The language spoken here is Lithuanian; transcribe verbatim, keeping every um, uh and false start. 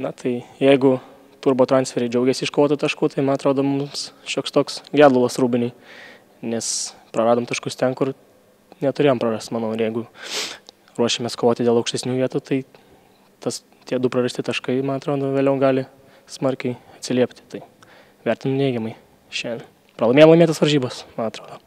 Na tai jeigu turbo transferiai džiaugiasi iškovotų taškų, tai man atrodo mums šioks toks gedulas Rūbiniai, nes praradom taškus ten, kur neturėjom prarasti, manau, ir jeigu ruošiamės kovoti dėl aukštesnių vietų, tai tas, tie du prarasti taškai, man atrodo, vėliau gali smarkiai atsiliepti. Tai vertinu neigiamai šiandien. Pralaimėjom laimėtas varžybas, man atrodo.